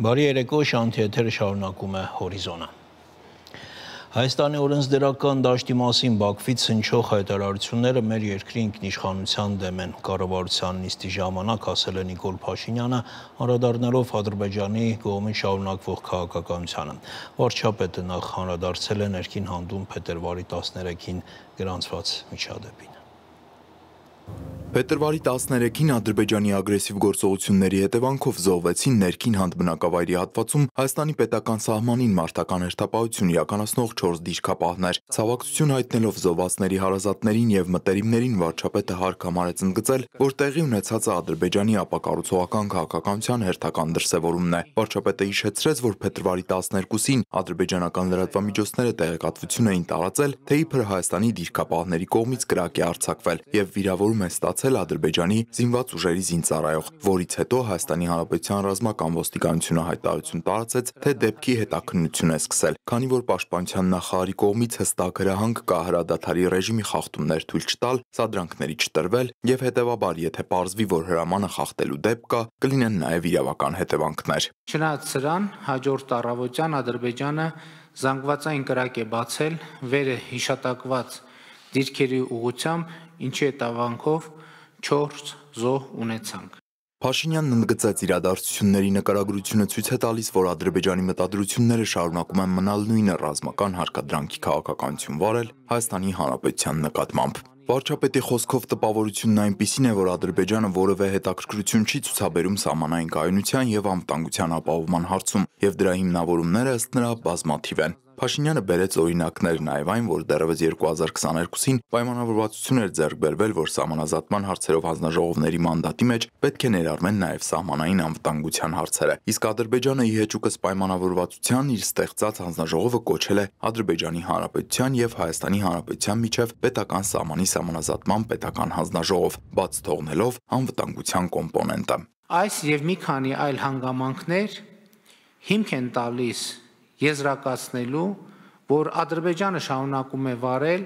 Բարի երեկո, Շանթի եթերը շարունակում է հորիզոնը։ Հայաստանի օրենսդրական դաշտի մասին Բաքվից հնչող հայտարարությունները մեր երկրի ինքնիշխանության դեմ են, կառավարության նիստի ժամանակ ասել է Նիկոլ Փաշինյանը, անդրադառնալով Ադրբեջանի կողմից շարունակվող քաղաքականությանը։ Վարչապետը նախ անդրադարձել է ներքին հանդում փետրվարի 13-ին գրանցված միջադեպին։ Փետրվարի 13-ին Ադրբեջանի ագրեսիվ գործողությունների հետևանքով զոհվեցին ներքին հանդ բնակավայրի հատվածում Հայաստանի պետական սահմանին մարտական հերթապահություն իրականացնող 4 դիրքապահներ։ Ցավակցություն հայտնելով զոհվածների հարազատներին եւ մտերիմներին վարչապետը հարկ համարեց ընդգծել, որ տեղի ունեցածը Ադրբեջանի ապակառուցողական քաղաքականության հերթական դրսևորումն է։ Վարչապետը հիշեցրեց, որ փետրվարի 12-ին ադրբեջանական լրատվամիջոցները տեղեկատվություն էին տարածել, թե իբր Հայաստանի դիրքապահների կողմից կրակ է արձակվել եւ վիրավորում է ստացել Ադրբեջանի զինված ուժերի զինծառայող, որից հետո Հայաստանի Հանրապետության ռազմական ոստիկանությունը հայտարարություն տարածեց, թե դեպքի հետաքննություն է սկսել, քանի որ Պաշտպանության նախարարի կողմից հստակ հրահանգ կա հրադադարի ռեժիմի խախտումներ թույլ չտալ, սադրանքների չտրվել եւ հետեւաբար, եթե պարզվի, որ հրամանը խախտելու դեպք կա, կլինեն նաեւ իրավական հետևանքներ։ Չնայած սրան, հաջորդ առավոտյան Ադրբեջանը զանգվածային կրակ է բացել վերը հիշատակված դիրքերի ուղղությամբ, ինչի հետևանքով 4 զոհ ունեցանք։ Փաշինյանն ընդգծեց իրադարձությունների նկարագրությունը ցույց է տալիս, որ Ադրբեջանի մտադրությունները շարունակում են մնալ նույնը ռազմական հարկադրանքի քաղաքականություն վարել Հայաստանի Հանրապետության նկատմամբ։ Վարչապետի խոսքով տպավորությունն այնպիսին է, որ Ադրբեջանը որևէ հետաքրքրություն չի ցուցաբերում սահմանային կայունության եւ անվտանգության ապահովման հարցում, եւ դրա հիմնավորումները ըստ նրա բազմաթիվ են։ Փաշինյանը բերեց օրինակներ նաև այն, որ դեռևս 2022-ին պայմանավորվածություն էր ձեռք բերվել, որ սահմանազատման հարցերով հանձնաժողովների մանդատի մեջ պետք է ներառվեն նաև սահմանային անվտանգության հարցերը։ Իսկ Ադրբեջանը ի հեճուկս պայմանավորվածության իր ստեղծած հանձնաժողովը կոչել է Ադրբեջանի Հանրապետության եւ Հայաստանի Հանրապետության միջև պետական սահմանի սահմանազատման պետական հանձնաժողով, բաց թողնելով անվտանգության կոմպոնենտը։ Այս եւ մի քանի այլ հանգամանքներ հիմք են տալիս եզրակացնելու, որ Ադրբեջանը շարունակում է վարել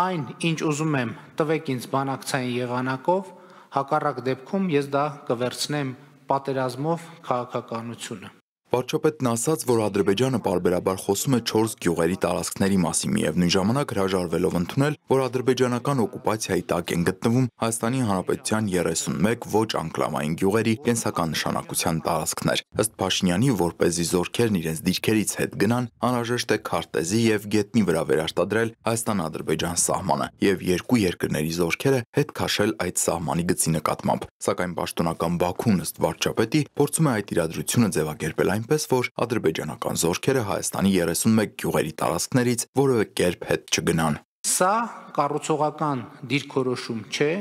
այն, ինչ ուզում եմ տվեք ինձ բանակցային եղանակով, հակառակ դեպքում ես դա կվերցնեմ պատերազմով քաղաքականությունը։ Վարչապետն ասաց, որ Ադրբեջանը պարբերաբար խոսում է 4 գյուղերի տարածքների մասին, միևնույն ժամանակ հրաժարվելով ընդունել, որ ադրբեջանական օկուպացիայի տակ են գտնվում Հայաստանի Հանրապետության 31 ոչ անկլավային գյուղերի կենսական նշանակության տարածքներ։ Ըստ Փաշինյանի, որպեսզի զորքերն իրենց դիրքերից հետ գնան, անհրաժեշտ է քարտեզի եւ գետնի վրա վերարտադրել Հայաստան-Ադրբեջան սահմանը եւ երկու երկրների զորքերը հետ քաշել այդ սահմանի գծի նկատմամբ։ Սակայն պաշտոնական Բաքուն ըստ վարչապետի փորձում է այդ իրադրությունը ձևակերպել այնպես, որ ադրբեջանական զորքերը Հայաստանի 31 գյուղերի տարածքներից որևէ կերպ հետ չգնան։ Սա կառուցողական դիրքորոշում չէ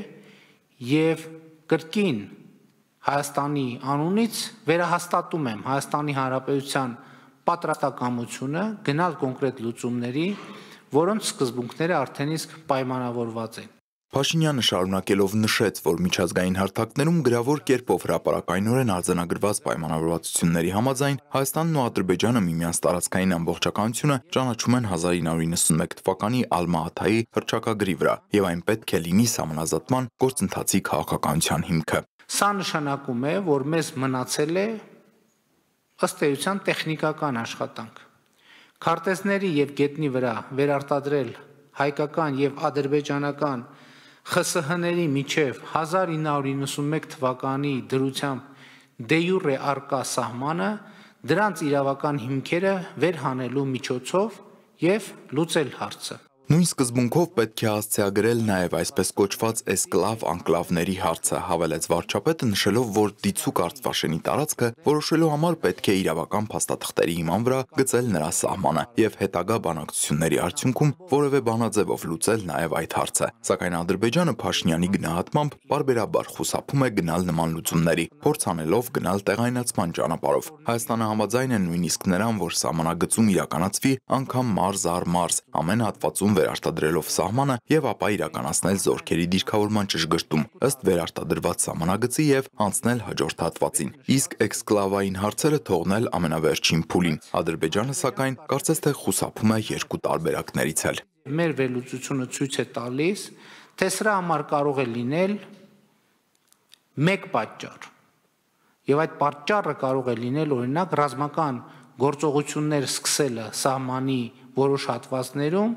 եւ կրկին Հայաստանի անունից վերահաստատում եմ Հայաստանի Հանրապետության պատրաստակամությունը գնալ կոնկրետ լուծումների, որոնց սկզբունքները արդեն իսկ պայմանավորված են։ Փաշինյանը շարունակելով նշեց, որ միջազգային հարթակներում գրավոր կերպով հրապարակայնորեն արձանագրված պայմանավորվածությունների համաձայն Հայաստանն ու Ադրբեջանը միմյանց տարածքային ամբողջականությունը ճանաչում են 1991 թվականի Ալմա-Աթայի հռչակագրի վրա, եւ այն պետք է լինի սահմանազատման գործընթացի քաղաքականության հիմքը։ Սա նշանակում է, որ մեզ մնացել է ըստ էության տեխնիկական աշխատանք։ Քարտեզների եւ գետնի վրա վերարտադրել հայկական եւ ադրբեջանական ԽՍՀ-ների միջև 1991 թվականի դրությամբ դե յուրե արկա սահմանը, դրանց իրավական հիմքերը վերհանելու միջոցով եւ լուծել հարցը։ Նույն սկզբունքով պետք է հասցեագրել նաև այսպես կոչված էսկլավ անկլավների հարցը, հավելեց վարչապետը, նշելով, որ դիցուք Արցվաշենի տարածքը որոշելու համար պետք է իրավական փաստաթղթերի հիման վրա գծել նրա սահմանը եւ հետագա բանակցությունների արդյունքում որևէ բանաձևով լուծել նաև այդ հարցը։ Սակայն Ադրբեջանը Փաշինյանի գնահատմամբ պարբերաբար խուսափում է գնալ նման լուծումների, փորձ անելով գնալ տեղայնացման ճանապարհով։ Հայաստանը համաձայն է նույնիսկ նրան, որ սահմանագծում իրականացվի անգամ մարզ առ մարզ, ամեն հատվածում վերարտադրելով սահմանը եւ ապա իրականացնել զորքերի դիրքավորման ճշգրտում ըստ վերարտադրված սահմանագծի եւ անցնել հաջորդ հատվածին, իսկ էքսկլավային հարցերը թողնել ամենավերջին փուլին։ Ադրբեջանը սակայն կարծես թե խուսափում է երկու տարբերակներից էլ։ Մեր վերլուծությունը ցույց է տալիս, թե սրա համար կարող է լինել մեկ պատճառ։ եւ այդ պատճառը կարող է լինել օրինակ ռազմական գործողություններ սկսելը սահմանի որոշ հատվածներում,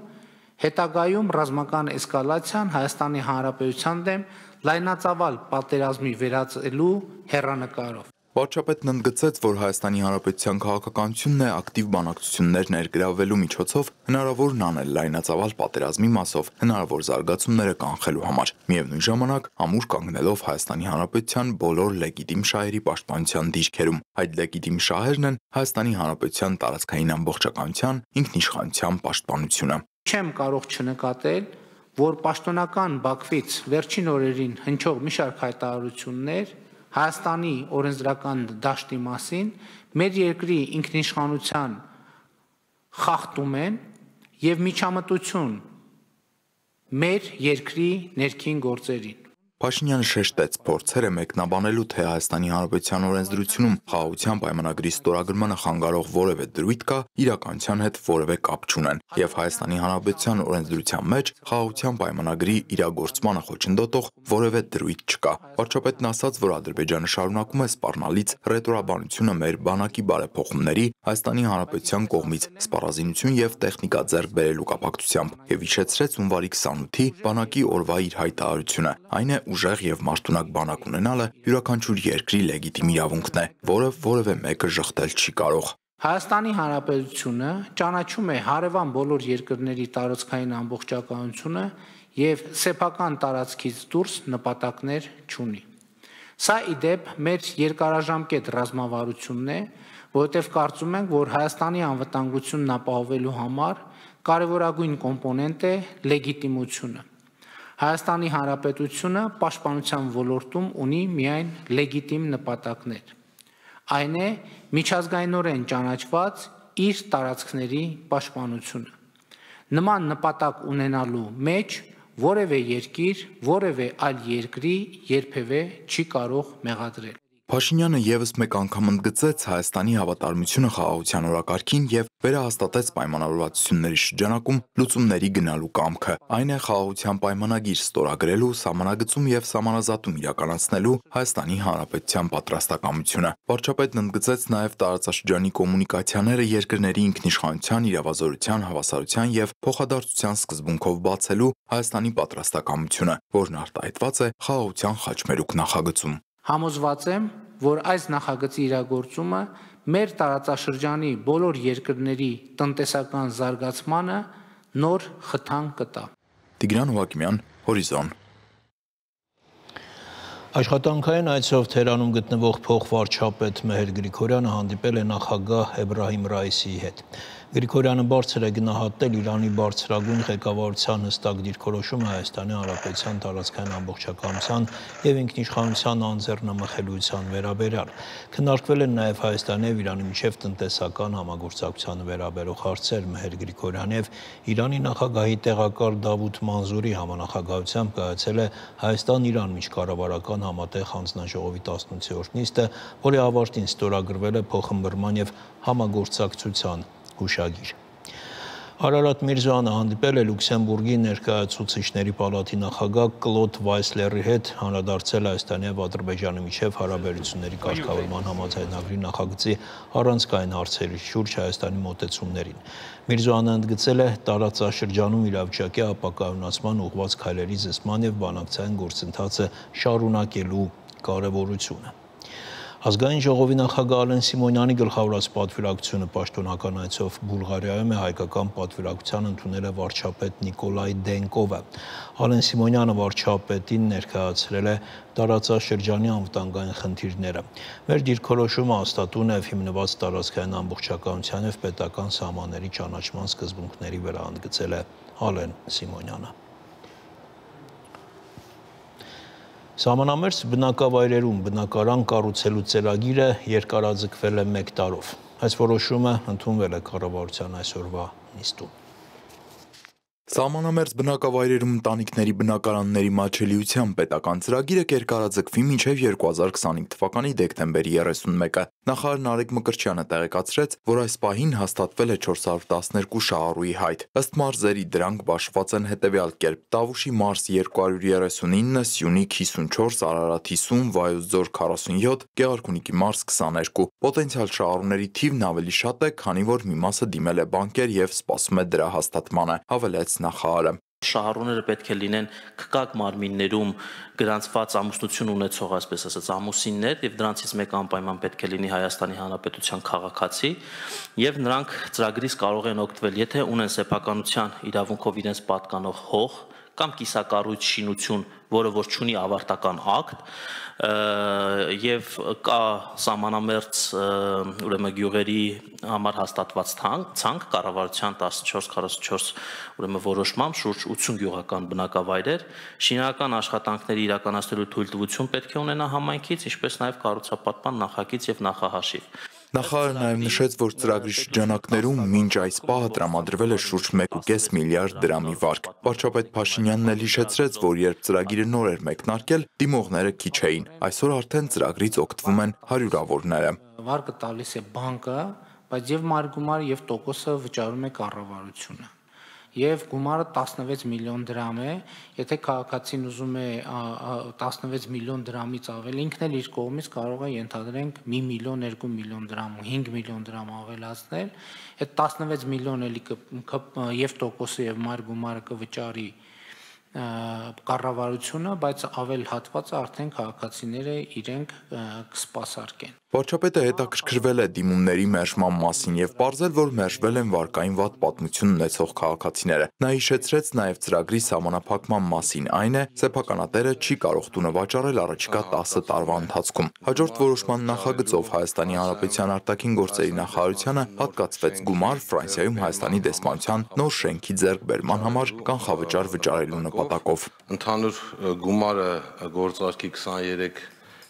հետագայում ռազմական էսկալացիան Հայաստանի Հանրապետության դեմ լայնածավալ պատերազմի վերածելու հեռանկարով։ Վարչապետն ընդգծեց, որ Հայաստանի Հանրապետության քաղաքականությունն է ակտիվ բանակցություններ ներգրավելու միջոցով հնարավորն անել լայնածավալ պատերազմի մասով հնարավոր զարգացումները կանխելու համար։ Միևնույն ժամանակ ամուր կանգնելով Հայաստանի Հանրապետության բոլոր լեգիտիմ շահերի պաշտպանության դիրքերում։ Այդ լեգիտիմ շահերն են Հայաստանի Հանրապետության տարածքային ամբողջականության, ինքնիշխանության պաշտպանությունը։ Չեմ կարող չնկատել, որ պաշտոնական Բաքվից վերջին օրերին հնչող մի շարք հայտարարություններ Հայաստանի օրենսդրական դաշտի մասին մեր երկրի ինքնիշխանության խախտում են եւ միջամտություն մեր երկրի ներքին գործերին։ Փաշինյանը շեշտեց փորձերը մեկնաբանելու, թե Հայաստանի Հանրապետության օրենսդրությունում խաղաղության պայմանագրի ստորագրմանը խանգարող որևէ դրույթ կա, իրականության հետ որևէ կապ չունեն, եւ Հայաստանի Հանրապետության օրենսդրության մեջ խաղաղության պայմանագրի իրագործմանը խոչընդոտող որևէ դրույթ չկա։ Վարչապետն ասաց, որ Ադրբեջանը շարունակում է սպառնալից ռետորաբանությունը մեր բանակի բարեփոխումների Հայաստանի Հանրապետության կողմից սպառազինություն եւ տեխնիկա ձեռք բերելու կապակցությամբ եւ հիշեցրեց հունվարի 28-ի բանակի օրվա իր հայտարարությունը, այն է ուժեղ եւ մարդունակ բանակ ունենալը յուրաքանչյուր երկրի լեգիտիմ իրավունքն է, որը որևէ մեկը շղթել չի կարող։ Հայաստանի Հանրապետությունը ճանաչում է հարևան բոլոր երկրների տարածքային ամբողջականությունը եւ սեփական տարածքից դուրս նպատակներ չունի։ Սա իդեպ մեր երկարաժամկետ ռազմավարությունն է, որովհետեւ կարծում ենք, որ Հայաստանի անվտանգությունն ապահովելու համար կարևորագույն կոմպոնենտ է լեգիտիմությունը։ Հայաստանի Հանրապետությունը պաշտպանության ոլորտում ունի միայն լեգիտիմ նպատակներ։ Այն է միջազգայինորեն ճանաչված իր տարածքների պաշտպանությունը։ Նման նպատակ ունենալու մեջ որևէ երկիր, որևէ այլ երկրի երբևէ չի կարող մեղադրել։ Փաշինյանը եւս մեկ անգամ ընդգծեց Հայաստանի հավատարմությունը խաղաղության օրակարգին եւ վերահաստատեց պայմանավորվածությունների շրջանակում լուծումների գնալու կամքը։ Այն է խաղաղության պայմանագիր ստորագրելու, սահմանագծում եւ սահմանազատում իրականացնելու Հայաստանի Հանրապետության պատրաստակամությունը։ Վարչապետն ընդգծեց նաեւ տարածաշրջանի կոմունիկացիաները երկրների ինքնիշխանության, իրավազորության, հավասարության եւ փոխադարձության սկզբունքով բացելու Հայաստանի պատրաստակամությունը, որն արտահայտված է խաղաղության խաչմերուկ նախագծում։ Համոզված եմ, որ այս նախագծի իրագործումը մեր տարածաշրջանի բոլոր երկրների տնտեսական զարգացմանը նոր խթան կտա։ Տիգրան Հովակիմյան, Հորիզոն։ Աշխատանքային այցով Թերանում գտնվող փոխվարչապետ Մեհեր Գրիգորյանը հանդիպել է նախագահ Էբրահիմ Ռայիսիի հետ։ Գրիգորյանը բարձր է գնահատել Իրանի բարձրագույն ղեկավարության հստակ դիրքորոշումը Հայաստանի Հանրապետության տարածքային ամբողջականության եւ ինքնիշխանության անձեռնամխելիության վերաբերյալ։ Քննարկվել են նաեւ Հայաստանի եւ Իրանի միջև տնտեսական համագործակցությանը վերաբերող հարցեր։ Մեհեր Գրիգորյանը եւ Իրանի նախագահի տեղակալ Դավութ Մանզուրի համանախագահությամբ կայացել է Հայաստան-Իրան միջկառավարական համատեղ հանձնաժողովի 18-րդ նիստը, որի ավարտին ստորագրվել է փոխըմբռնման եւ համագործակցության հուշագիր։ Արարատ Միրզոյանը հանդիպել է Լյուքսեմբուրգի ներկայացուցիչների պալատի նախագահ Կլոդ Վայսլերի հետ, անդրադարձել Հայաստանի եւ Ադրբեջանի միջև հարաբերությունների կարգավորման համաձայնագրի նախագծի առանցքային հարցերի շուրջ Հայաստանի մոտեցումներին։ Միրզոյանը ընդգծել է տարածաշրջանում իրավիճակի ապակայունացման ուղղված քայլերի զսպման եւ բանակցային գործընթացը շարունակելու կարեւորությունը։ Ազգային ժողովի նախագահ Ալեն Սիմոնյանի գլխավորած պատվիրակությունը պաշտոնական այցով Բուլղարիայում է հայկական պատվիրակության ընդունել է վարչապետ Նիկոլայ Դենկովը։ Ալեն Սիմոնյանը վարչապետին ներկայացրել է տարածաշրջանի անվտանգային խնդիրները։ Մեր դիրքորոշումը հաստատուն է հիմնված տարածքային ամբողջականության եւ պետական սահմանների ճանաչման սկզբունքների վրա, ընդգծել է Ալեն Սիմոնյանը։ Սահմանամերձ բնակավայրերում բնակարան կառուցելու ծրագիրը երկարաձգվել է 1 տարով։ Այս որոշումը ընդունվել է կառավարության այսօրվա նիստում։ Սահմանամերձ բնակավայրերում ընտանիքների բնակարանների մատչելիության պետական ծրագիրը կերկարաձգվի մինչև 2025 թվականի դեկտեմբերի 31-ը։ Նախարար Նարեկ Մկրտչյանը տեղեկացրեց, որ այս պահին հաստատվել է 412 շահառուի հայտ։ Ըստ մարզերի դրանք բաշխված են հետևյալ կերպ. Տավուշի մարզ 239, Սյունիք 54, Արարատ 50, Վայոց ձոր 47, Գեղարքունիքի մարզ 22։ Պոտենցիալ շահառուների թիվն ավելի շատ է, քանի որ մի մասը դիմել է բանկեր եւ սպասում է դրա հաստատմանը, հավելեց նախարարը։ Շահառուները պետք է լինեն քկակ մարմիններում գրանցված ամուսնություն ունեցող, այսպես ասած, ամուսիններ եւ դրանցից մեկը անպայման պետք է լինի Հայաստանի Հանրապետության քաղաքացի եւ նրանք ծրագրից կարող են օգտվել, եթե ունեն սեփականության իրավունքով իրենց պատկանող հող կամ կիսակառույց շինություն, որը որ չունի ավարտական ակտ եւ կա սահմանամերձ ուրեմն գյուղերի համար հաստատված ցանկ կառավարության 1444 ուրեմն որոշմամբ շուրջ 80 գյուղական բնակավայրեր շինական աշխատանքների իրականացնելու թույլտվություն պետք է ունենա համայնքից, ինչպես նաեւ կառուցապատման նախագիծ եւ նախահաշիվ։ Նախարարը նաև նշեց, որ ծրագրի շրջանակներում մինչ այս պահը տրամադրվել է շուրջ 1.5 միլիարդ դրամի վարկ։ Վարչապետ Փաշինյանն էլ հիշեցրեց, որ երբ ծրագիրը նոր էր մեկնարկել, դիմողները քիչ էին։ Այսօր արդեն ծրագրից օգտվում են հարյուրավորները։ Վարկը տալիս է բանկը, բայց եւ մարգումարը եւ տոկոսը վճարում է կառավարությունը։ Եվ գումարը 16 միլիոն դրամ է, եթե քաղաքացին ուզում է 16 միլիոն դրամից ավել, ինքն էլ իր կողմից կարող է ենթադրենք 1 միլիոն, 2 միլիոն դրամ ու 5 միլիոն դրամ ավելացնել, այդ 16 միլիոն էլի եւ տոկոսը եւ մայր գումարը կվճարի կառավարությունը, բայց ավել հատվածը արդեն քաղաքացիները իրենք կսպասարկեն։ Վարչապետը հետաքրքրվել է դիմումների մերժման մասին եւ պարզել, որ մերժվել են վարկային վատ պատմություն ունեցող քաղաքացիները։ Նա հիշեցրեց նաեւ ծրագրի սահմանափակման մասին, այն է, սեփականատերը չի կարող տունը վաճառել առաջիկա 10 տարվա ընթացքում։ Հաջորդ որոշման նախագծով Հայաստանի Հանրապետության արտաքին գործերի նախարարությանը հատկացվեց գումար Ֆրանսիայում Հայաստանի դեսպանության նոր շենքի ձեռքբերման համար կանխավճար վճարելու նպատակով։ Ընդհանուր գումարը գործարքի 23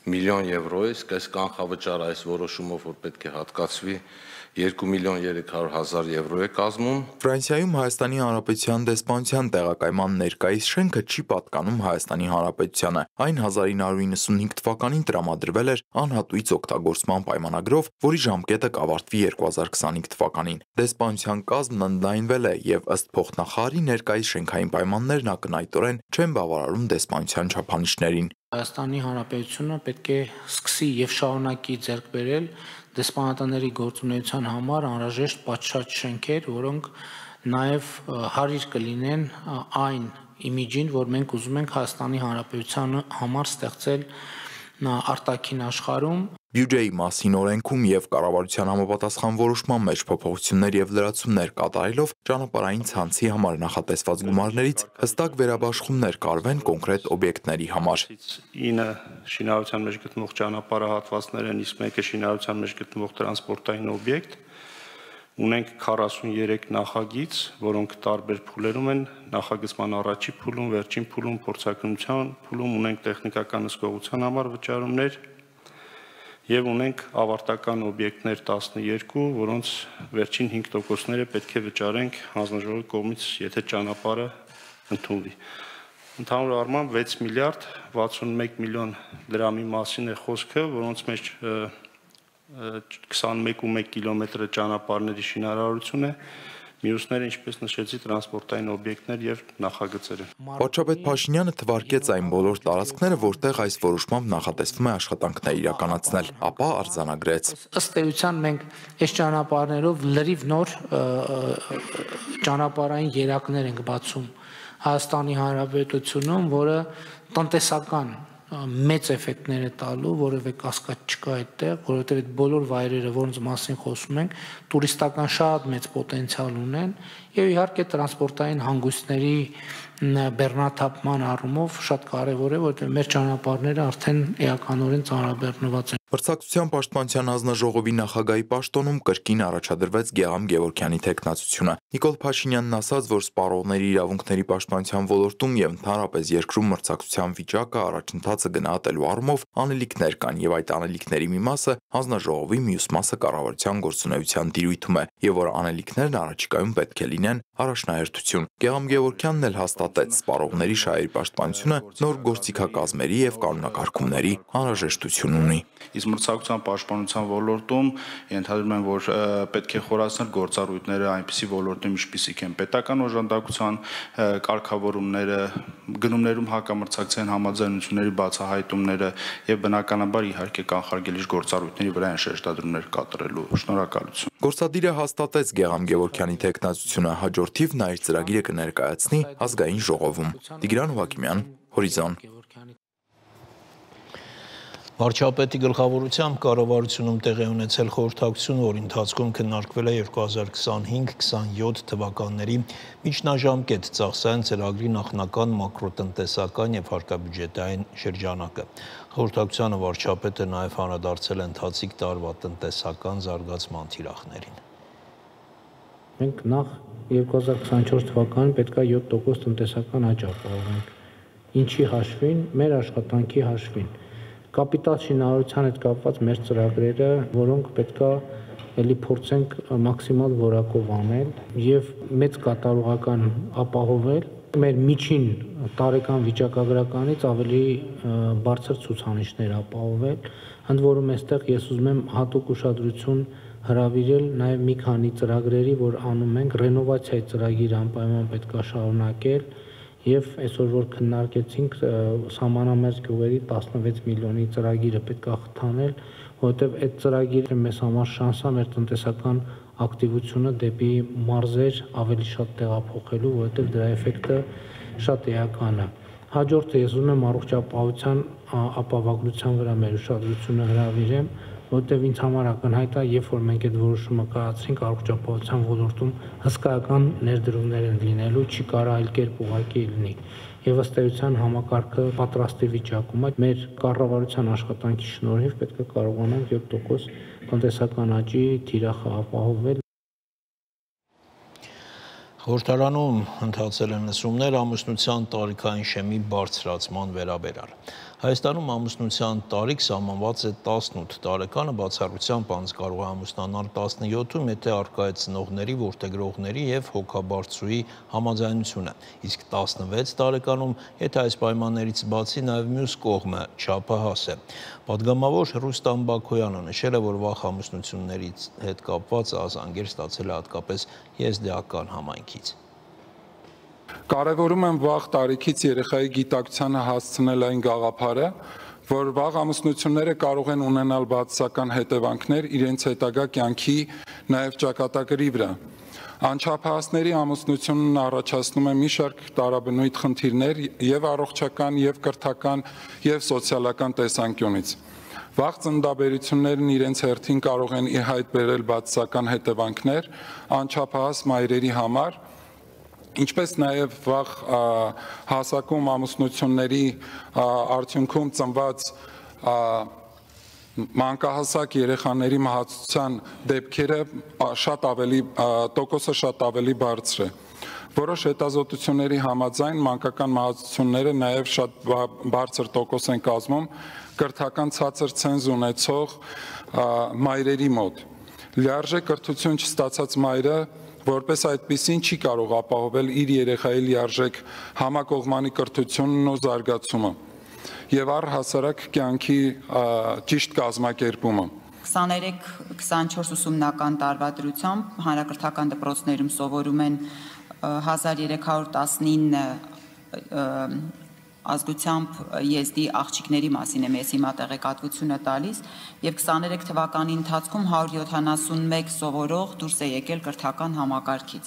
միլիոն եվրո է, իսկ այս կանխավճարը այս որոշումով որ պետք է հատկացվի 2 միլիոն 300,000 եվրո է կազմում։ Ֆրանսիայում Հայաստանի Հանրապետության դեսպանության տեղակայման ներկայիս շենքը չի պատկանում Հայաստանի Հանրապետությանը։ Այն 1995 թվականին տրամադրվել էր անհատույց օգտագործման պայմանագրով, որի ժամկետը կավարտվի 2025 թվականին։ Դեսպանության կազմն ընդլայնվել է եւ ըստ փոխնախարարի ներկայիս շենքային պայմաններն ակնհայտորեն չեն բավարարում դեսպանության չափանիշներին։ Հայաստանի Հանրապետությունը պետք է սկսի եւ շարունակի ձեռք բերել դեսպանատների գործունեության համար անհրաժեշտ պատշաճ շենքեր, որոնք նաև հարիր կլինեն այն իմիջին, որ մենք ուզում ենք Հայաստանի Հանրապետության համար ստեղծել արտաքին աշխարհում։ Բյուջեի մասին օրենքում եւ կառավարության համապատասխան որոշման մեջ փոփոխություններ եւ լրացումներ կատարելով ճանապարհային ցանցի համար նախատեսված գումարներից հստակ վերաբաշխումներ կարվեն կոնկրետ օբյեկտների համար։ 9 շինարարության մեջ գտնվող ճանապարհահատվածներ են, իսկ մեկը շինարարության մեջ գտնվող տրանսպորտային օբյեկտ։ Ունենք 43 նախագիծ, որոնք տարբեր փուլերում են, նախագծման առաջի փուլում, վերջին փուլում, փորձակնության փուլում ունենք տեխնիկական հսկողության համար վճարումներ եւ ունենք ավարտական օբյեկտներ 12, որոնց վերջին 5%-ները պետք է վճարենք հանձնաժողովի կողմից, եթե ճանապարհը ընդունվի։ Ընդհանուր առմամբ 6 միլիարդ 61 միլիոն դրամի մասին է խոսքը, որոնց մեջ 21.1 կիլոմետրը ճանապարհների շինարարություն է, մյուսները, ինչպես նշեցի, տրանսպորտային օբյեկտներ եւ նախագծերը։ Վարչապետ Փաշինյանը թվարկեց այն բոլոր տարածքները, որտեղ այս որոշմամբ նախատեսվում է աշխատանքներ իրականացնել, ապա արձանագրեց։ Ըստ էության մենք այս ճանապարհներով լրիվ նոր ճանապարհային երակներ ենք բացում Հայաստանի Հանրապետությունում, որը տնտեսական մեծ էֆեկտներ է տալու, որևէ կասկած չկա այդտեղ, որովհետև այդ բոլոր վայրերը, որոնց մասին խոսում ենք, տուրիստական շատ մեծ պոտենցիալ ունեն եւ իհարկե տրանսպորտային հանգույցների բեռնաթափման առումով շատ կարեւոր է, որովհետև մեր ճանապարհները արդեն էականորեն ծանրաբեռնված են։ Մրցակցության պաշտպանության հանձնաժողովի նախագահի պաշտոնում կրկին առաջադրվեց Գեհամ Գևորգյանի թեկնածությունը։ Նիկոլ Փաշինյանն ասաց, որ սպառողների իրավունքների պաշտպանության ոլորտում եւ ընդհանրապես երկրում մրցակցության վիճակը առաջընթացը գնահատելու առումով անելիքներ կան եւ այդ անելիքների մի մասը հանձնաժողովի, մյուս մասը կառավարության գործունեության դիրույթում է եւ որ անելիքներն առաջիկայում պետք է լինեն առաջնահերթություն։ Գեհամ Գևորգյանն էլ հաստատեց, հաստատեց սպառողների շահերի պաշտպանությունը նոր գործիքակազմերի եւ կանոնակարգումների անհրաժեշտություն ունի։ Իսկ մրցակցության պաշտպանության ոլորտում ենթադրում եմ, որ պետք է խորացնել գործառույթները այնպիսի ոլորտում, ինչպիսիք են պետական օժանդակության կարգավորումները, գնումներում հակամրցակցային համաձայնությունների բացահայտումները եւ բնականաբար իհարկե կանխարգելիչ գործառույթների վրա են շեշտադրումներ կատարելու։ Շնորհակալություն։ Գործադիրը հաստատեց Գեգամ Գևորգյանի թեկնածությունը, հաջորդիվ նա իր ծրագիրը կներկայացնի ազգային ժողովում։ Տիգրան Հովակիմյան, Հորիզոն։ Վարչապետի գլխավորությամբ կառավարությունում տեղի ունեցել խորհրդակցություն, որի ընթացքում քննարկվել է 2025-27 թվականների միջնաժամկետ ծախսային ծրագրի նախնական մակրոտնտեսական եւ հարկաբյուջետային շրջանակը։ Խորհրդակցությանը վարչապետը նաեւ անդրադարձել է ընթացիկ տարվա տնտեսական զարգացման թիրախներին։ Մենք նախ 2024 թվականին պետք է 7% տնտեսական աճ ապահովենք։ Ինչի հաշվին, մեր աշխատանքի հաշվին։ Կապիտալ շինարարության հետ կապված մեր ծրագրերը, որոնք պետքա էլի փորձենք մաքսիմալ որակով անել եւ մեծ կատարողական ապահովել մեր միջին տարեկան վիճակագրականից ավելի բարձր ցուցանիշներ ապահովել, ընդ որում այստեղ ես ուզում եմ հատուկ ուշադրություն հրավիրել նաեւ մի քանի ծրագրերի, որ անում ենք, ռենովացիայի ծրագիր անպայման պետքա շարունակել Եվ այսօր որ քննարկեցինք սահմանամերձ գյուղերի 16 միլիոնի ծրագիրը պետք է խթանել, որովհետև այդ ծրագիրը մեզ համար շանս է մեր տնտեսական ակտիվությունը դեպի մարզեր ավելի շատ տեղափոխելու, որովհետև դրա էֆեկտը շատ էական է։ Հաջորդը ես ուզում եմ առողջապահության ապահովագրության վրա մեր ուշադրությունը հրավիրեմ, որովհետև ինձ համար ակնհայտ է, երբ որ մենք այդ որոշումը կայացրինք առողջապահության ոլորտում հսկայական ներդրումներ են լինելու, չի կարա այլ կերպ ուղղակի լինի։ Եվ ըստ էության համակարգը պատրաստի վիճակում է, մեր կառավարության աշխատանքի շնորհիվ պետք է կարողանանք 7% տնտեսական աճի թիրախը ապահովել։ Խորհրդարանում ընթացել են լսումներ ամուսնության տարիքային շեմի բարձրացման վերաբերյալ։ Հայաստանում ամուսնության տարիք սահմանված է 18 տարեկանը, բացառությամբ անձ կարող է ամուսնանալ 17-ում, եթե առկա է ծնողների, որդեգրողների եւ հոգաբարձուի համաձայնությունը, իսկ 16 տարեկանում, եթե այս պայմաններից բացի նաեւ մյուս կողմը չափահաս է։ Պատգամավոր Ռուստամ Բաքոյանը նշել է, որ վաղ ամուսնություններից հետ կապված ազանգեր ստացել է հատկապես եզդիական համայնքից։ Կարևորում եմ վաղ տարիքից երեխայի գիտակցությանը հասցնել այն գաղափարը, որ վաղ ամուսնությունները կարող են ունենալ բացասական հետևանքներ իրենց հետագա կյանքի նաև ճակատագրի վրա։ Անչափահասների ամուսնությունն առաջացնում է մի շարք տարաբնույթ խնդիրներ եւ առողջական, եւ կրթական, եւ սոցիալական տեսանկյունից։ Վաղ ծննդաբերություններն իրենց հերթին կարող են ի հայտ բերել բացասական հետևանքներ անչափահաս մայրերի համար, ինչպես նաև վաղ հասակում ամուսնությունների արդյունքում ծնված մանկահասակ երեխաների մահացության դեպքերը տոկոսը շատ ավելի բարձր է։ Որոշ հետազոտությունների համաձայն մանկական մահացությունները նաև շատ բարձր տոկոս են կազմում կրթական ցածր ցենզ ունեցող մայրերի մոտ։ Լիարժեք կրթություն չստացած մայրը որպես այդպիսին չի կարող ապահովել իր երեխայի լիարժեք համակողմանի կրթությունն ու զարգացումը եւ առհասարակ կյանքի ճիշտ կազմակերպումը։ 23-24 ուսումնական տարվա դրությամբ հանրակրթական դպրոցներում սովորում են 1319 ազգությամբ եզդի աղջիկների մասին եմ ես հիմա տեղեկատվությունը տալիս եւ 23 թվականի ընթացքում 171 սովորող դուրս է եկել կրթական համակարգից։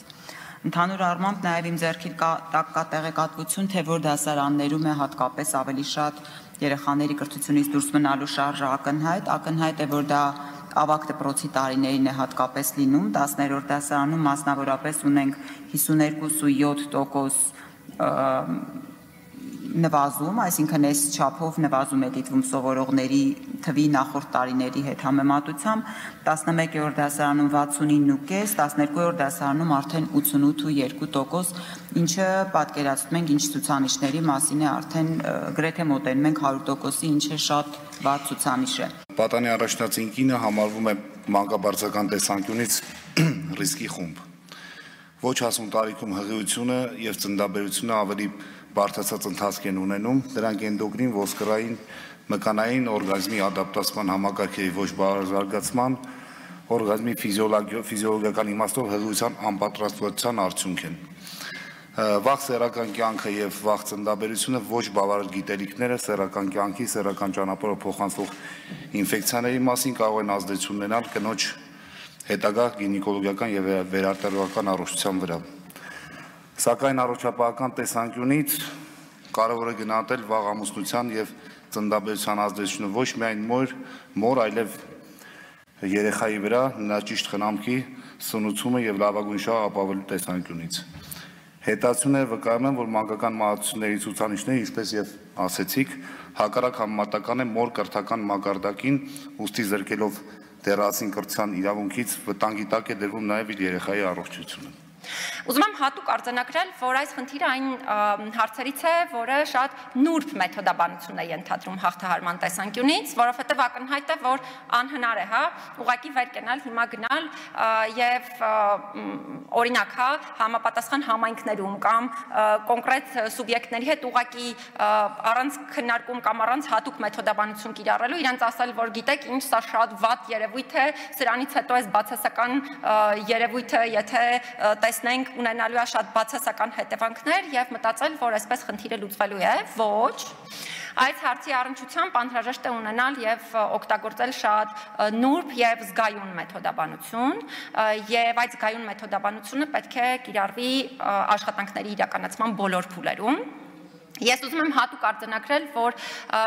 Ընդհանուր առմամբ նաեւ իմ ձեռքի տակ կա տեղեկատվություն, թե որ դասարաններում է հատկապես ավելի շատ երեխաների կրթությունից դուրս մնալու շարժը ակնհայտ է, որ դա ավագ դպրոցի տարիներին է հատկապես լինում, 10-րդ դասարանում մասնավորապես ունենք 52.7% նվազում, այսինքն այս չափով նվազում է դիտվում սովորողների թվի նախորդ տարիների հետ համեմատությամբ, 11-րդ դասարանում 69.5, 12-րդ դասարանում արդեն 88.2%, ինչը պատկերացնում ենք ինչ ցուցանիշների մասին է արդեն գրեթե մոտենում ենք 100%-ի, ինչը շատ վատ ցուցանիշ է։ Պատանի առաջնածին կինը համարվում է մանկաբարձական տեսանկյունից ռիսկի խումբ։ ոչ հասուն տարիքում հղիությունը եւ ծննդաբերությունը ավելի բարձրացած ընթացք են ունենում, դրանք էնդոկրին, ոսկրային, մկանային օրգանիզմի ադապտացման համակարգերի ոչ բարձրացման, օրգանիզմի ֆիզիոլոգիական իմաստով հղիության անպատրաստվածության արդյունք են։ Վաղ սեռական կյանքը եւ վաղ ծննդաբերությունը ոչ բավարար գիտելիքները սեռական կյանքի, սեռական ճանապարհով փոխանցվող ինֆեկցիաների մասին կարող են ազդեցություն ունենալ կնոջ հետագա գինեկոլոգիական եւ վերարտադրական առողջության վրա։ Սակայն առողջապահական տեսանկյունից կարևոր է գնահատել վաղ ամուսնության եւ ծննդաբերության ազդեցությունը ոչ միայն մոր, այլև երեխայի վրա, նրա ճիշտ խնամքի, սնուցումը եւ լավագույն շահ ապավելու տեսանկյունից։ Հետացությունները վկայում են, որ մանկական մահացությունների ցուցանիշները, ինչպես եւ ասեցիք, հակառակ համեմատական է մոր կրթական մակարդակին, ուստի զրկելով դեռացին կրթության իրավունքից վտանգի տակ է դրվում նաեւ իր երեխայի առողջությունը։ Ուզում եմ հատուկ արձանագրել, որ այս խնդիրը այն հարցերից է, որը շատ նուրբ մեթոդաբանություն է ենթադրում հաղթահարման տեսանկյունից, որովհետև ակնհայտ է, որ անհնար է, ուղղակի վեր կենալ, հիմա գնալ եւ օրինակ, համապատասխան համայնքներում կամ կոնկրետ սուբյեկտների հետ ուղղակի առանց քննարկում կամ առանց հատուկ մեթոդաբանություն կիրառելու, իրենց ասել, որ գիտեք, ինչ սա շատ վատ երևույթ է, սրանից հետո այս բացասական երևույթը, եթե տեսնենք ունենալու է շատ բացասական հետևանքներ եւ մտածել, որ այսպես խնդիրը լուծվելու է, ոչ։ Այս հարցի առնչությամբ անհրաժեշտ է ունենալ եւ օգտագործել շատ նուրբ եւ զգայուն մեթոդաբանություն եւ այդ զգայուն մեթոդաբանությունը պետք է կիրառվի աշխատանքների իրականացման բոլոր փուլերում։ Ես ուզում եմ հատուկ արձանագրել, որ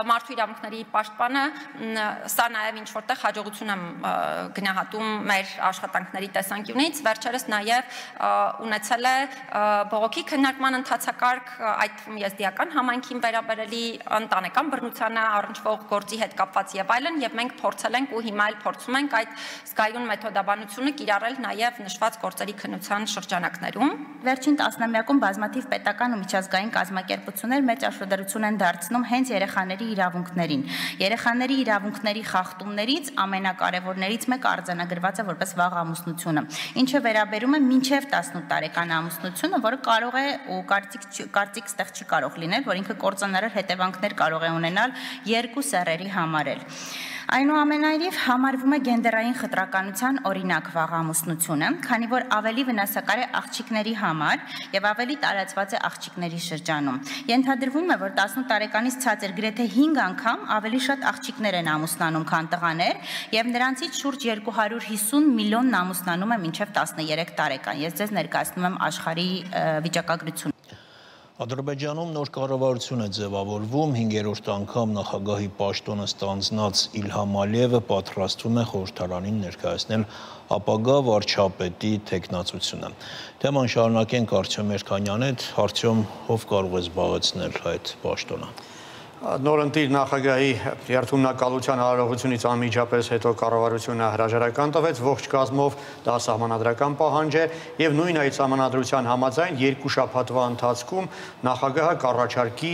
մարդու իրավունքների պաշտպանը սա նաև ինչ որտեղ հաջողություն եմ գնահատում մեր աշխատանքների տեսանկյունից, վերջերս նաև ունեցել է բողոքի քննարկման ընթացակարգ, այդ թվում եզդիական համայնքին վերաբերելի ընտանեկան բռնությանը առնչվող գործի հետ կապված եւ այլն, եւ մենք փորձել ենք ու հիմա էլ փորձում ենք այդ զգայուն մեթոդաբանությունը կիրառել նաև նշված գործերի քննության շրջանակներում։ Վերջին տասնամյակում բազմաթիվ պետական ու միջազգային կազմակերպություններ մեծ աշտարություն են դարձնում հենց երեխաների իրավունքներին։ Երեխաների իրավունքների խախտումներից ամենակարևորներից մեկը արձանագրված է որպես վաղ ամուսնությունը, ինչը վերաբերում է մինչև 18 տարեկան ամուսնությունը, որը կարող է ու կարծիք ստեղ չի կարող լինել, որ ինքը կործանարար հետևանքներ կարող է ունենալ երկու սեռերի համար էլ։ Այնուամենայնիվ համարվում է գենդերային խտրականության օրինակ վաղ ամուսնությունը, քանի որ ավելի վնասակար է աղջիկների համար եւ ավելի տարածված է աղջիկների շրջանում։ Ենթադրվում է, որ 18 տարեկանից ցածր գրեթե 5 անգամ ավելի շատ աղջիկներ են ամուսնանում, քան տղաներ, եւ նրանցից շուրջ 250 միլիոնն ամուսնանում է մինչեւ 13 տարեկան։ Ես ձեզ ներկայացնում եմ աշխարհի վիճակագրությունը։ Ադրբեջանում նոր կառավարություն է ձևավորվում, 5-րդ անգամ նախագահի պաշտոնը ստանձնած Իլհամ Ալիևը պատրաստվում է խորհրդարանին ներկայացնել ապագա վարչապետի թեկնածությունը։ Թեման շարունակենք Արտյոմ Երկանյանի հետ, Արտյոմ, ով կարող է զբաղեցնել այդ պաշտոնը։ Նորընտիր նախագահի երթունակալության հարարողությունից անմիջապես հետո կառավարությունը հրաժարական տվեց ողջ կազմով, դա սահմանադրական պահանջ է եւ նույն այդ սահմանադրության համաձայն 2 շաբաթվա ընթացքում նախագահը կառաջարկի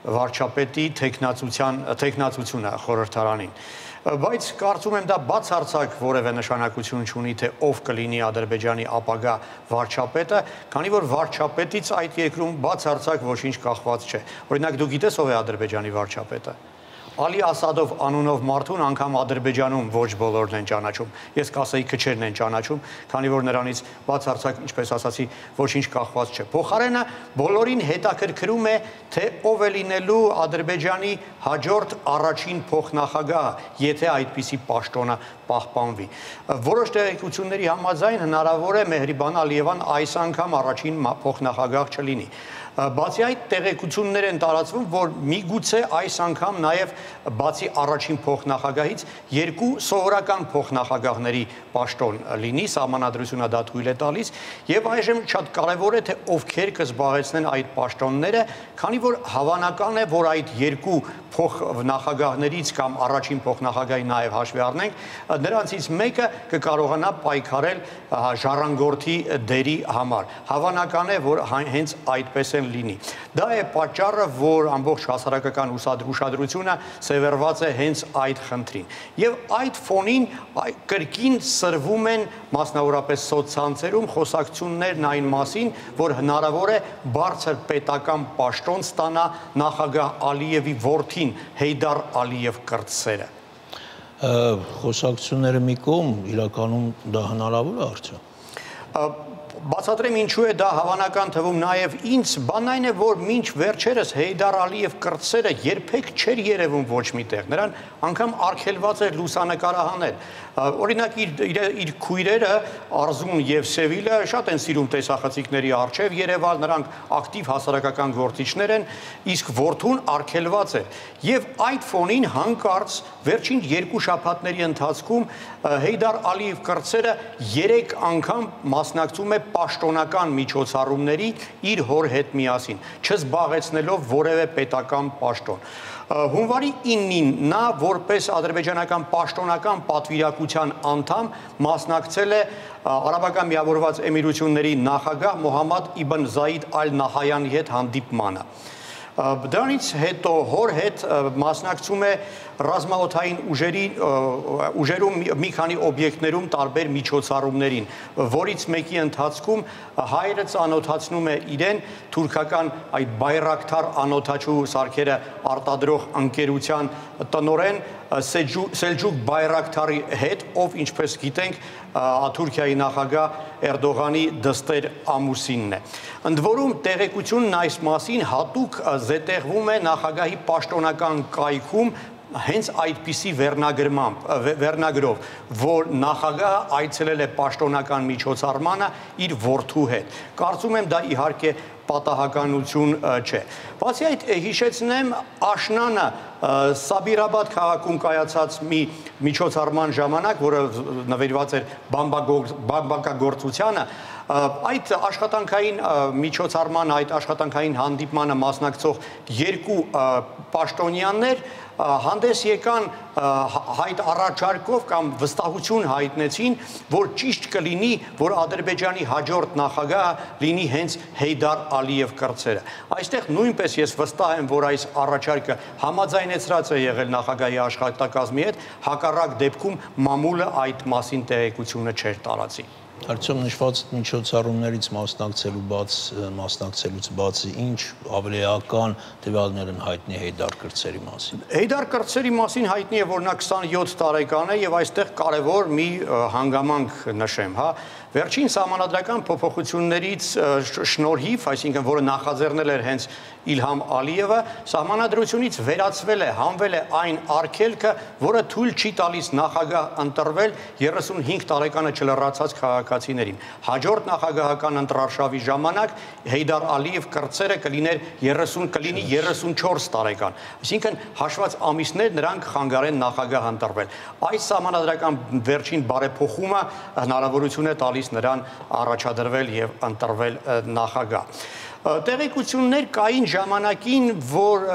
վարչապետի թեկնածությունը խորհրդարանին։ Բայց կարծում եմ դա բացարձակ որևէ նշանակություն չունի, թե ով կլինի Ադրբեջանի ապագա վարչապետը, քանի որ վարչապետից այդ երկրում բացարձակ ոչինչ կախված չէ։ Օրինակ դու գիտես ով է Ադրբեջանի վարչապետը։ Ալի Ասադով անունով մարդուն անգամ Ադրբեջանում ոչ բոլորն են ճանաչում։ Ես կասեի քչերն են ճանաչում, քանի որ նրանից բացարձակ, ինչպես ասացի, ոչինչ կախված չէ։ Փոխարենը բոլորին հետաքրքրում է, թե ով է լինելու Ադրբեջանի հաջորդ առաջին փոխնախագահը, եթե այդպիսի պաշտոնը պահպանվի։ Որոշ տեղեկությունների համաձայն հնարավոր է Մեհրիբան Ալիևան այս անգամ առաջին փոխնախագահ չլինի։ Բացի այդ տեղեկություններ են տարածվում, որ միգուցե այս անգամ նաև բացի առաջին փոխնախագահից 2 սովորական փոխնախագահների պաշտոն լինի, սահմանադրությունը դա թույլ է տալիս, եւ այժմ շատ կարեւոր է, թե ովքեր կզբաղեցնեն այդ պաշտոնները, քանի որ հավանական է, որ այդ 2 փոխնախագահներից կամ առաջին փոխնախագահի նաև հաշվի առնենք, նրանցից մեկը կկարողանա պայքարել ժառանգորդի դերի համար։ Հավանական է, որ հենց այդպես կորցեն լինի։ Դա է պատճառը, որ ամբողջ հասարակական ուշադրությունը սևեռված է հենց այդ խնդրին։ Եվ այդ ֆոնին կրկին սրվում են մասնավորապես սոցցանցերում խոսակցություններն այն մասին, որ հնարավոր է բարձր պետական պաշտոն ստանա նախագահ Ալիևի որդին Հեյդար Ալիև կրտսերը։ Խոսակցությունները մի կողմ, իրականում դա հնարավոր է արդյոք։ Բացատրեմ ինչու է դա հավանական թվում նաև ինձ, բանն այն է, որ մինչ վերջերս Հեյդար Ալիև կրտսերը երբեք չէր երևում ոչ միտեղ, նրան անգամ արգելված էր լուսանկարահանել։ Օրինակ իր քույրերը Արզուն եւ Սևիլը շատ են սիրում տեսախցիկների առջև երևալ, նրանք ակտիվ հասարակական գործիչներ են, իսկ որդուն արգելված է։ Եվ այդ ֆոնին հանկարծ վերջին 2 շաբաթների ընթացքում Հեյդար Ալիև կրտսերը 3 անգամ մասնակցում է պաշտոնական միջոցառումների իր հոր հետ միասին, չզբաղեցնելով որևէ պետական պաշտոն։ Հունվարի 9-ին նա որպես ադրբեջանական պաշտոնական պատվիրակության անդամ մասնակցել է Արաբական Միավորված Էմիրությունների նախագահ Մոհամմադ Իբն Զայիդ Ալ Նահայանի հետ հանդիպմանը։ Դրանից հետո հոր հետ մասնակցում է ռազմաօդային ուժերում մի քանի օբյեկտներում տարբեր միջոցառումներին, որից մեկի ընթացքում հայրը ծանոթացնում է իրեն թուրքական այդ Բայրակթար անոթաչու սարքերը արտադրող ընկերության տնօրեն Սելջուկ Բայրակթարի հետ, ով ինչպես գիտենք Թուրքիայի նախագահ Էրդողանի դստեր ամուսինն է։ Ընդ որում տեղեկությունն այս մասին հատուկ զետեղվում է նախագահի պաշտոնական կայքում հենց այդպիսի վերնագրով, որ նախագահը այցելել է պաշտոնական միջոցառմանը իր որդու հետ։ Կարծում եմ դա իհարկե պատահականություն չէ։ Բացի այդ հիշեցնեմ Աշնանը Սաբիրաբադ քաղաքում կայացած մի միջոցառման ժամանակ, որը նվիրված էր բամբակագործությանը, այդ աշխատանքային միջոցառման, այդ աշխատանքային հանդիպմանը մասնակցող 2 պաշտոնյաներ հանդես եկան հայտ առաջարկով կամ վստահություն հայտնեցին, որ ճիշտ կլինի, որ Ադրբեջանի հաջորդ նախագահը լինի հենց Հեյդար Ալիև կրտսերը։ Այստեղ նույնպես ես վստահ եմ, որ այս առաջարկը համաձայնեցրած է եղել նախագահի աշխատակազմի հետ, հակառակ դեպքում մամուլը այդ մասին տեղեկությունը չէր տարածի։ Արդյոք նշված միջոցառումներից մասնակցելուց բացի ինչ ավելի էական տվյալներ են հայտնի Հեյդար կրտսերի մասին։ Հեյդար կրտսերի մասին հայտնի է, որ նա 27 տարեկան է եւ այստեղ կարևոր մի հանգամանք նշեմ, հա։ Վերջին սահմանադրական փոփոխություններից շնորհիվ, այսինքն որը նախաձեռնել էր հենց Իլհամ Ալիևը, սահմանադրությունից վերացվել է, հանվել է այն արգելքը, որը թույլ չի տալիս նախագահ ընտրվել 35 տարեկանը չլրացած քաղաքացիներին։ Հաջորդ նախագահական ընտրարշավի ժամանակ Հեյդար Ալիև կրտսերը կլինի 34 տարեկան։ Այսինքն հաշված ամիսներ նրանք խանգարեն նախագահ ընտրվել։ Այս սահմանադրական վերջին բարեփոխումը հնարավորություն է տալիս նրան առաջադրվել եւ ընտրվել նախագահ։ Տեղեկություններ կային ժամանակին, որ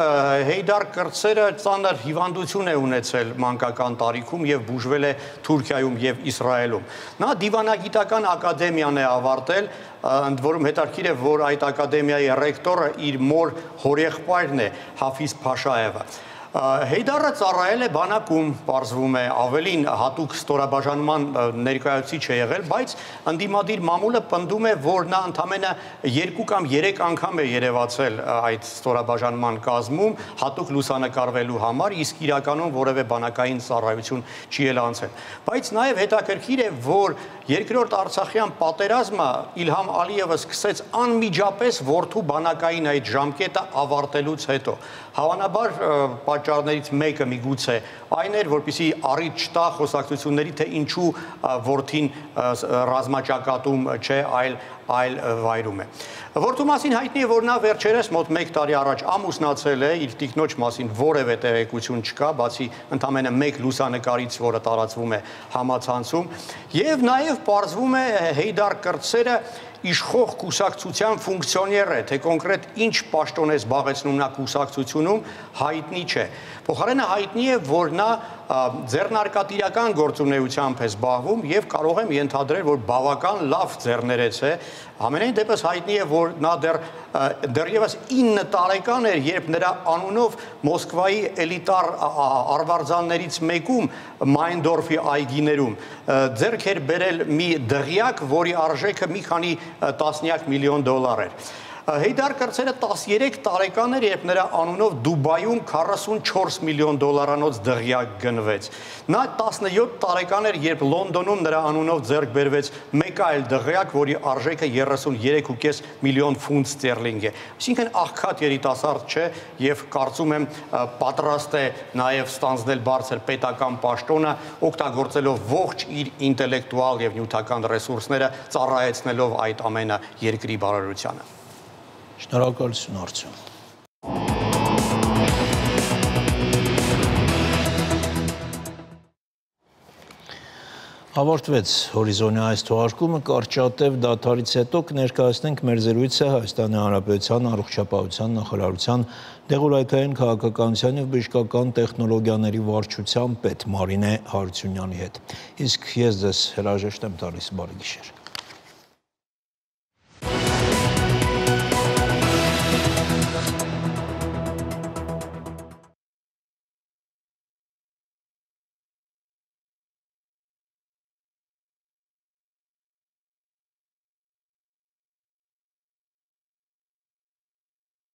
Հեյդար կրտսերը ծանր հիվանդություն է ունեցել մանկական տարիքում եւ բուժվել է Թուրքիայում եւ Իսրայելում։ Նա դիվանագիտական ակադեմիան է ավարտել, ընդ որում հետաքրքիր է, որ այդ ակադեմիայի ռեկտորը իր մոր հորեղբայրն է Հաֆիզ Փաշաևը։ Հեյդարը ծառայել է բանակում, պարզվում է, ավելին հատուկ ստորաբաժանման ներկայացուցիչ է եղել, բայց ընդդիմադիր մամուլը պնդում է, որ նա ընդամենը 2 կամ 3 անգամ է երևացել այդ ստորաբաժանման կազմում, հատուկ լուսանկարվելու համար, իսկ իրականում որևէ բանակային ծառայություն չի էլ անցել։ Բայց նաև հետաքրքիր է, որ երկրորդ Արցախյան պատերազմը Իլհամ Ալիևը սկսեց անմիջապես որդու բանակային այդ ժամկետը ավարտելուց հետո։ Հավանաբար պատճառներից մեկը միգուցե այն էր, որպեսզի առիթ չտա խոսակցությունների, թե ինչու որդին ռազմաճակատում չէ, այլ վայրում է։ Որդու մասին հայտնի է, որ նա վերջերս մոտ 1 տարի առաջ ամուսնացել է, իր տիկնոջ մասին որևէ տեղեկություն չկա, բացի ընդամենը 1 լուսանկարից, որը տարածվում է համացանցում, եւ նաեւ պարզվում է Հեյդար կրտսերը իշխող կուսակցության ֆունկցիոներ է, թե կոնկրետ ինչ պաշտոն է զբաղեցնում նա կուսակցությունում, հայտնի չէ։ Փոխարենը հայտնի է, որ նա ձեռնարկատիրական գործունեությամբ է զբաղվում եւ կարող եմ ենթադրել, որ բավական լավ ձեռներեց է։ Ամենայն դեպս հայտնի է, որ նա դեռևս 9 տարեկան էր, երբ նրա անունով Մոսկվայի էլիտար արվարձաններից մեկում Մայնդորֆի այգիներում ձեռք էր բերել մի դղյակ, որի արժեքը մի քանի տասնյակ միլիոն դոլար էր։ Հեյդար Կրցերը 13 տարեկան էր, երբ նրա անունով Դուբայում 44 միլիոն դոլարանոց դղյակ գնվեց։ Նա 17 տարեկան էր, երբ Լոնդոնում նրա անունով ձեռք բերվեց մեկ այլ դղյակ, որի արժեքը 33.5 միլիոն ֆունտ ստերլինգ է։ Այսինքն աղքատ երիտասարդ չէ եւ կարծում եմ պատրաստ է նաեւ ստանձնել բարձր պետական պաշտոնը, օգտագործելով ողջ իր ինտելեկտուալ եւ նյութական ռեսուրսները, ծառայեցնելով այդ ամենը երկրի բարօրությանը։ Շնորհակալություն Արծյուն։ Ավարտվեց հորիզոնի այս թողարկումը, կարճատև դադարից հետո կներկայացնենք մեր զրույցը Հայաստանի Հանրապետության առողջապահության նախարարության դեղորայքային քաղաքականության և բժշկական տեխնոլոգիաների վարչության պետ Մարինե Հարությունյանի հետ։ Իսկ ես ձեզ հրաժեշտ եմ տալիս, բարի գիշեր։